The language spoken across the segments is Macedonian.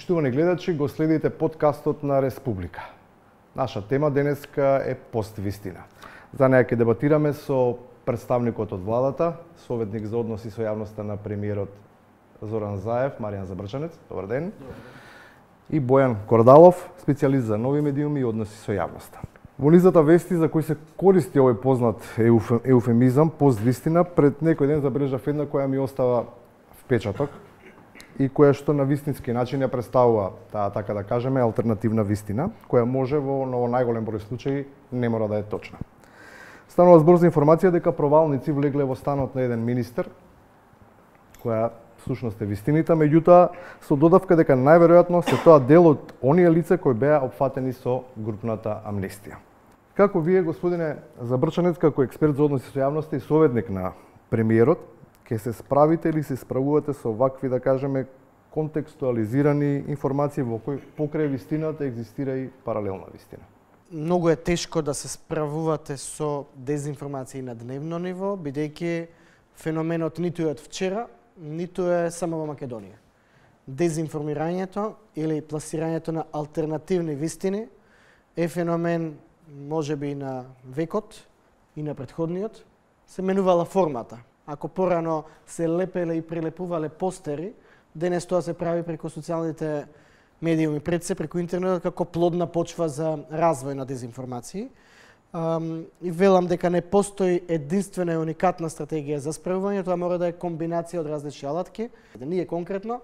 Почитувани гледачи, го следите подкастот на Республика. Наша тема денеска е поствистина. За неја ќе дебатираме со представникот од владата, советник за односи со јавноста на премиерот Зоран Заев, Маријан Забрчанец, добар ден. И Бојан Кордалов, специјалист за нови медиуми и односи со јавноста. Во низата вести за кои се користи овој познат еуфемизам, поствистина, пред некој ден забележав една која ми остава впечаток и која што на вистински начин ја представува таа, така да кажеме, алтернативна вистина, која може во најголем број случаи не мора да е точна. Станува збор за информација дека провалници влегле во станот на еден министер, која всушност е вистината, меѓутоа со додавка дека најверојатно се тоа дел од оние лица кои беа опфатени со групната амнестија. Како вие, господине Забрчанец, како експерт за односи со јавноста и советник на премиерот, ќе се справите или се справувате со вакви, да кажеме, контекстуализирани информации во кои покрај вистината екзистира и паралелна вистина? Многу е тешко да се справувате со дезинформации на дневно ниво, бидејќи феноменот ниту е од вчера, ниту е само во Македонија. Дезинформирањето или пласирањето на алтернативни вистини е феномен можеби на векот и на претходниот. Се менувала формата. Ако порано се лепеле и прелепувале постери, денес тоа се прави преку социјалните медиуми, пред се преку интернетот како плодна почва за развој на дезинформации. И велам дека не постои единствена и уникатна стратегија за справување, тоа мора да е комбинација од различни алатки. Ние конкретно,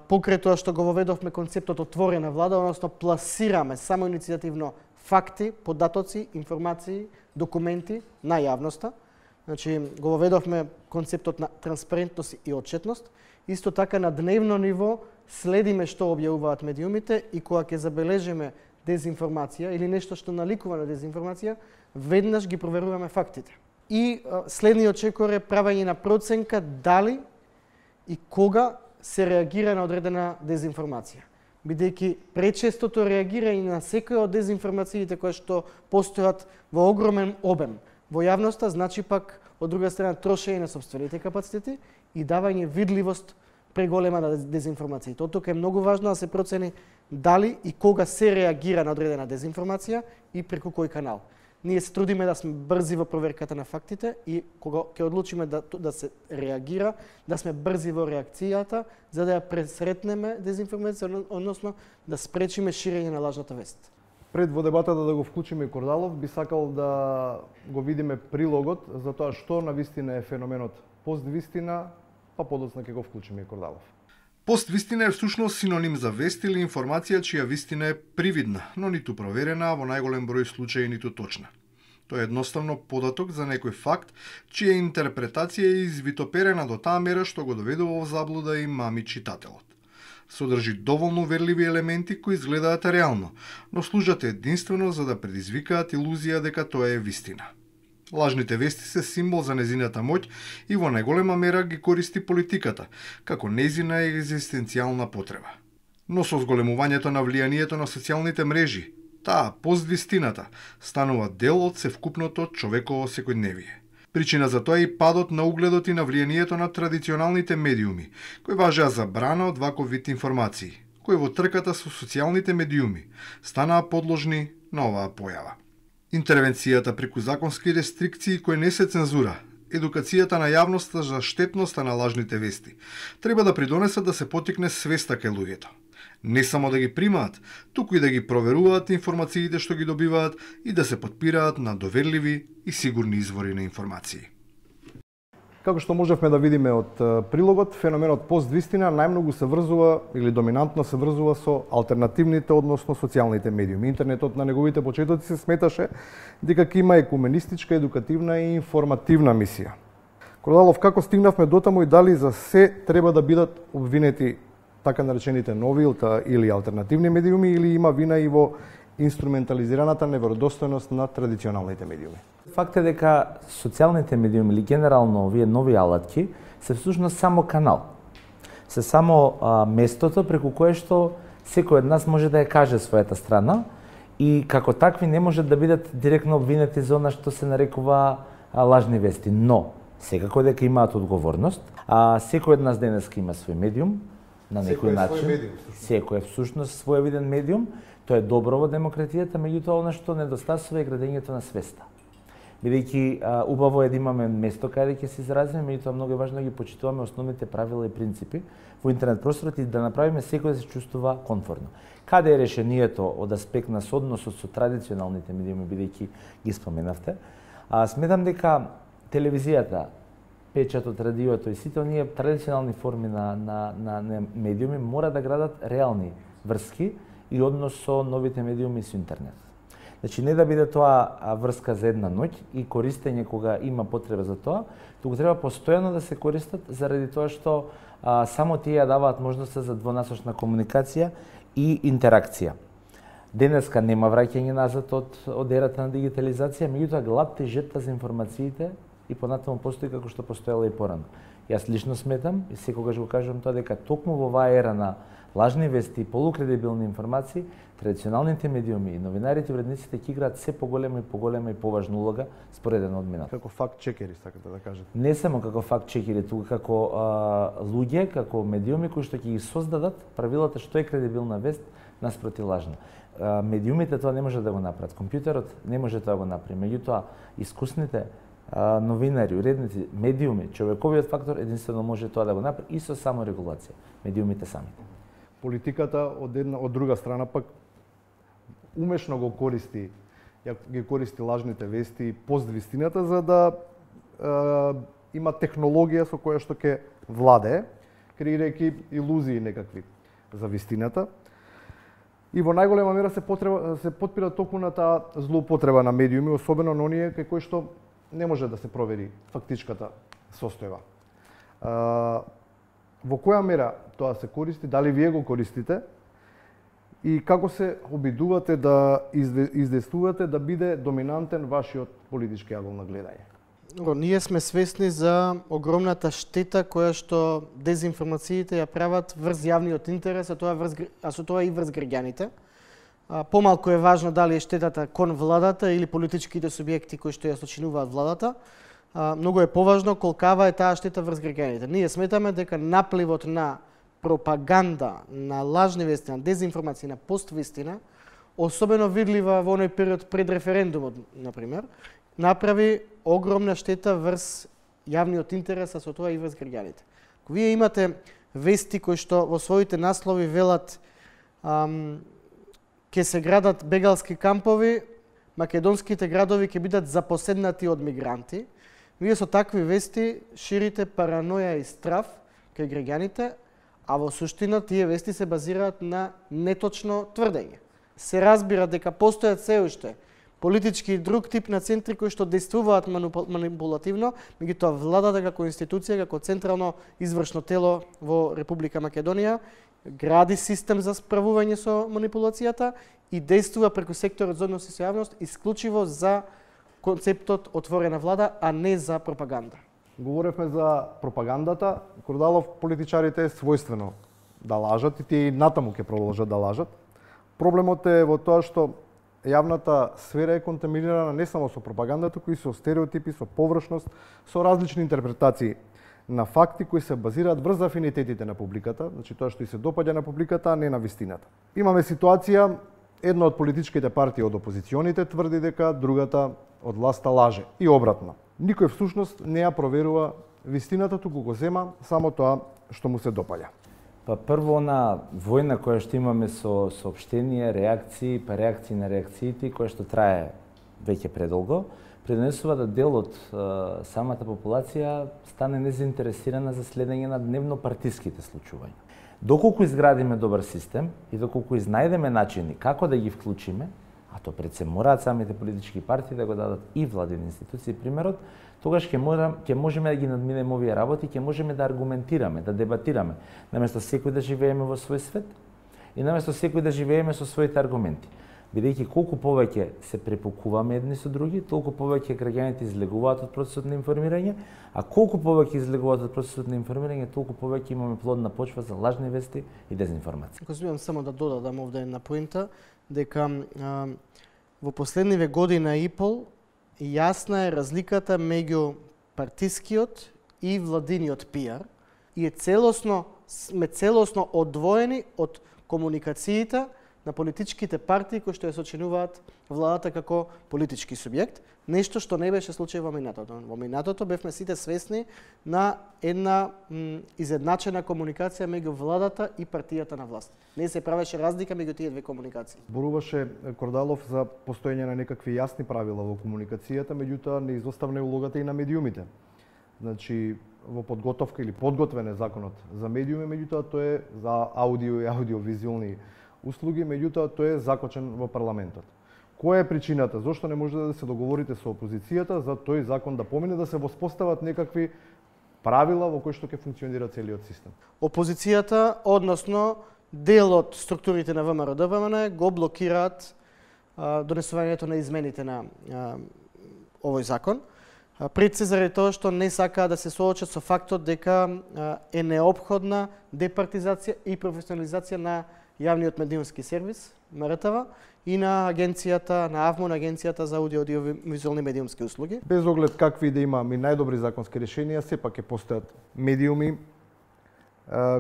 покрај тоа што го воведовме концептот отворена влада, односно пласираме само иницијативно факти, податоци, информации, документи на јавноста. Значи, го воведовме концептот на транспарентност и отчетност. Исто така на дневно ниво следиме што објавуваат медиумите и кога ќе забележиме дезинформација или нешто што наликува на дезинформација, веднаш ги проверуваме фактите. И следниот чекор е правење на проценка дали и кога се реагира на одредена дезинформација. Бидејќи пречестото реагирање на секоја од дезинформациите кои што постојат во огромен обем во јавноста, значи пак од друга страна трошење на сопствените капацитети и давање видливост преголема на дезинформациите. Од тука е многу важно да се процени дали и кога се реагира на одредена дезинформација и преку кој канал. Ние се трудиме да сме брзи во проверката на фактите и кога ќе одлучиме да се реагира, да сме брзи во реакцијата, за да ја пресретнеме дезинформација, односно да спречиме ширење на лажната вест. Пред во дебатата да го вклучиме и Кордалов, би сакал да го видиме прилогот за тоа што навистина е феноменот поствистина, па подоцна ќе го вклучиме и Кордалов. Поствистина е всушност синоним за вест или информација чија вистина е привидна, но ниту проверена, а во најголем број случаи ниту точна. Тоа е едноставно податок за некој факт, чија интерпретација е извитоперена до таа мера што го доведува во заблуда и мами читателот. Содржи доволно верливи елементи кои изгледаат реално, но служат единствено за да предизвикаат илузија дека тоа е вистина. Лажните вести се символ за незината моќ и во најголема мера ги користи политиката, како незина екзистенцијална потреба. Но со зголемувањето на влијанието на социјалните мрежи, таа поствистината станува дел од севкупното човеково секојдневие. Причина за тоа е и падот на угледот и на влијанието на традиционалните медиуми, кои важеа забрана од ваков вид информации, кои во трката со социјалните медиуми станаа подложни на оваа појава. Интервенцијата преку законски рестрикции кои не се цензура, едукацијата на јавноста за штетноста на лажните вести, треба да придонесат да се потикне свеста кај луѓето. Не само да ги примаат, туку и да ги проверуваат информациите што ги добиваат и да се потпираат на доверливи и сигурни извори на информации. Како што можевме да видиме од прилогот, феноменот поствистина најмногу се врзува или доминантно се врзува со алтернативните, односно социјалните медиуми. Интернетот на неговите почетоци се сметаше дека ќе има екуменистичка, едукативна и информативна мисија. Кордалов, како стигнавме дотаму и дали за се треба да бидат обвинети така наречените нови или алтернативни медиуми, или има вина и во инструментализираната неверодостојност на традиционалните медиуми? Факт е дека социјалните медиуми или генерално овие нови алатки се всушност само канал. Се само местото преку кое што секој од нас може да ја каже својата страна и како такви не можат да бидат директно обвинети за она што се нарекува лажни вести. Но секако дека имаат одговорност, секој од нас денеска има свој медиум, на некој начин. Секој е всушност своевиден медиум, тоа е добро во демократијата, меѓутоа она што недостасува е градењето на свеста. Бидејќи убаво е да имаме место каде ќе се изразиме, меѓутоа многу е важно да ги почитуваме основните правила и принципи во интернет просторот и да направиме секој да се чувствува комфортно. Каде е решението од аспект на соодносот со традиционалните медиуми, бидејќи ги споменавте? Сметам дека телевизијата, печатот, радиото и сите оние традиционални форми на медиуми мора да градат реални врски и однос со новите медиуми и со интернет. Значи, не да биде тоа врска за една ноќ и користење кога има потреба за тоа, туку треба постојано да се користат заради тоа што само тие даваат можноста за двонасочна комуникација и интеракција. Денеска нема враќање назад од ерата на дигитализација, меѓутоа глад тежета за информациите и понатаму постои како што постоела и порано. Јас лично сметам и секогаш го кажувам тоа дека токму во оваа ера на лажни вести и полукредибилни информации, традиционалните медиуми и новинарите и уредниците ќе играат се поголема и поважна улога според една од минатата. Како факт-чекери, сакате да кажете? Не само како факт-чекери, туку како луѓе, како медиуми кои што ќе ги создадат правилата што е кредибилна вест наспроти лажна. Медиумите тоа не може да го направат, компјутерот не може тоа да го направи, меѓутоа искусните новинари, уредници, медиуми, човековиот фактор единствено може тоа да го направи и со саморегулација, медиумите самите. Политиката од друга страна пак умешно го користи, ги користи лажните вести и поствистината за да има технологија со која што ќе владее, креирајќи илузии некакви за вистината. И во најголема мера се потпира токму на таа злоупотреба на медиуми, особено на оние кај кои што не може да се провери фактичката состојба. Во која мера тоа се користи, дали вие го користите и како се обидувате да издействувате да биде доминантен вашиот политички агол на гледање? Ние сме свесни за огромната штета која што дезинформациите ја прават врз јавниот интерес, а со тоа и врз граѓаните. Помалку е важно дали е штетата кон владата или политичките субјекти кои што ја сочинуваат владата. Многу е поважно колкава е таа штета врз граѓаните. Ние сметаме дека напливот на пропаганда, на лажни вести, на дезинформација, на поствистина, особено видлива во оној период пред референдумот, например, направи огромна штета врз јавниот интерес, а со тоа и врз граѓаните. Вие имате вести кои што во своите наслови велат ќе се градат бегалски кампови, македонските градови ќе бидат запоседнати од мигранти. Вие со такви вести ширите параноја и страв кај граѓаните, а во суштина тие вести се базираат на неточно тврдење. Се разбира дека постојат се уште политички и друг тип на центри кои што действуваат манипулативно, меѓутоа владата како институција, како централно извршно тело во Република Македонија, гради систем за справување со манипулацијата и действува преку секторот за односи со јавност исклучиво за концептот отворена влада, а не за пропаганда. Говоревме за пропагандата. Кордалов, политичарите е својствено да лажат и тие и натаму ќе продолжат да лажат. Проблемот е во тоа што јавната сфера е контаминирана не само со пропагандата, кои со стереотипи, со површност, со различни интерпретации на факти кои се базираат врз афинитетите на публиката, значи тоа што и се допаѓа на публиката, а не на вистината. Имаме ситуација, една од политичките партии од опозиционите тврди дека другата од власта лаже и обратно. Никој всушност не ја проверува вистината, туку го зема само тоа што му се допаѓа. Па прво на војна која што имаме со соопштенија, реакции, па реакции на реакциите, која што трае веќе предолго, пренесува да дел од самата популација стане незаинтересирана за следење на дневно партиските случувања. Доколку изградиме добар систем и доколку изнајдеме начини како да ги вклучиме, а то пред се мораат самите политички партии да го дадат и владини институции примерот, тогаш ќе можеме да ги надминеме овие работи, ќе можеме да аргументираме, да дебатираме, наместо секој да живееме во свој свет и наместо секој да живееме со своите аргументи. Бидејќи колку повеќе се препукуваме едни со други, толку повеќе граѓаните излегуваат од процесот на информирање, а колку повеќе излегуваат од процесот на информирање, толку повеќе имаме плодна почва за лажни вести и дезинформација. Ако смеам само да додадам овде една поинта, дека во последниве година и пол јасна е разликата меѓу партискиот и владиниот пиар и е целосно сме целосно одвоени од комуникациите на политичките партии кои што ја сочинуваат владата како политички субјект, нешто што не беше случај во минатото. Во минатото бевме сите свесни на една изедначена комуникација меѓу владата и партијата на власт. Не се правеше разлика меѓу тие две комуникации. Зборуваше Кордалов за постоење на некакви јасни правила во комуникацијата, меѓутоа не изоставна улогата и на медиумите. Значи, во подготовка или подготвен е законот за медиуми, меѓутоа тој е за аудио и аудиовизуелни услуги, меѓутоа тој е закочен во парламентот. Која е причината? Зошто не можете да се договорите со опозицијата за тој закон да помине, да се воспостават некакви правила во кои што ќе функционира целиот систем? Опозицијата, односно дел од структурите на ВМРО-ДПМН го блокираат донесувањето на измените на овој закон. Пред се заради тоа што не сакаа да се соочат со фактот дека е неопходна департизација и професионализација на јавниот медиумски сервис, МРТВ, и на агенцијата, на АВМО, на агенцијата за аудиовизуелни медиумски услуги. Без оглед какви да имаме најдобри законски решенија, сепак ќе постојат медиуми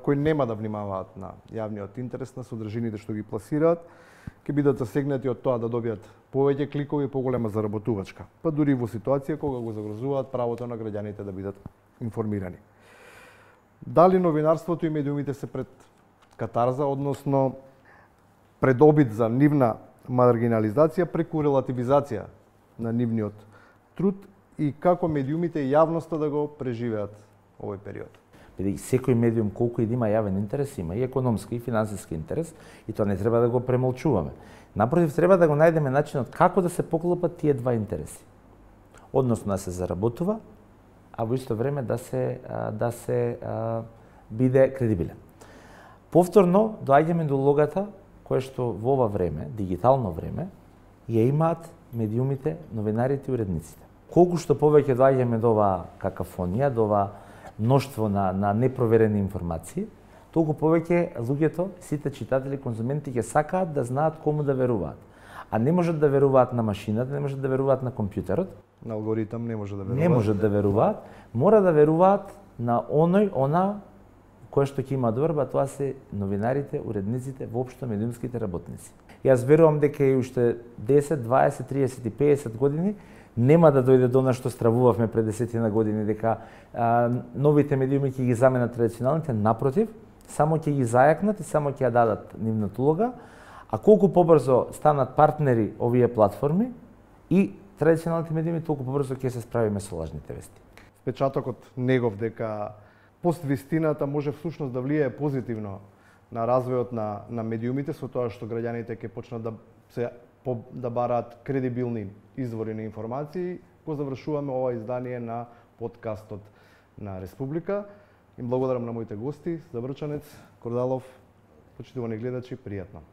кои нема да внимаваат на јавниот интерес, на содржините што ги пласираат, ќе бидат засегнати од тоа да добијат повеќе кликови и поголема заработувачка, па дури во ситуација кога го загрозуваат правото на граѓаните да бидат информирани. Дали новинарството и медиумите се пред катарза, односно пред обид за нивна маргинализација преку релативизација на нивниот труд и како медиумите и јавноста да го преживеат овој период? Бидејќи секој медиум колку и да има јавен интерес, има и економски и финансиски интерес, и тоа не треба да го премолчуваме. Напротив, треба да го најдеме начинот како да се поклопат тие два интереси. Односно да се заработува, а во исто време да се биде кредибилен. Повторно доаѓаме до улогата која што во ова време, дигитално време, ја имаат медиумите, новинарите и уредниците. Колку што повеќе доаѓаме до оваа какафонија, до оваа мноштво на непроверени информации, толку повеќе луѓето, сите читатели, конзументи ќе сакаат да знаат кому да веруваат. А не можат да веруваат на машината, не можат да веруваат на компјутерот. На алгоритам не може да веруваат. Не можат да веруваат, мора да веруваат на она кој што ќе има добрба, тоа се новинарите, уредниците, воопшто медиумските работници. Јас верувам дека и уште 10, 20, 30 и 50 години нема да дојде до нас што стравувавме пред 10 години, дека новите медиуми ќе ги заменат традиционалните, напротив, само ќе ги зајакнат и само ќе ја дадат нивната улога, а колку побрзо станат партнери овие платформи и традиционалните медиуми, толку побрзо ќе се справиме со лажните вести. Впечатокот негов дека поствистината може всушност да влијае позитивно на развојот на медиумите, со тоа што граѓаните ќе почнат да бараат кредибилни извори на информации, го завршуваме ова издание на подкастот на Республика. Им благодарам на моите гости, Забрчанец, Кордалов, почитувани гледачи, пријатно.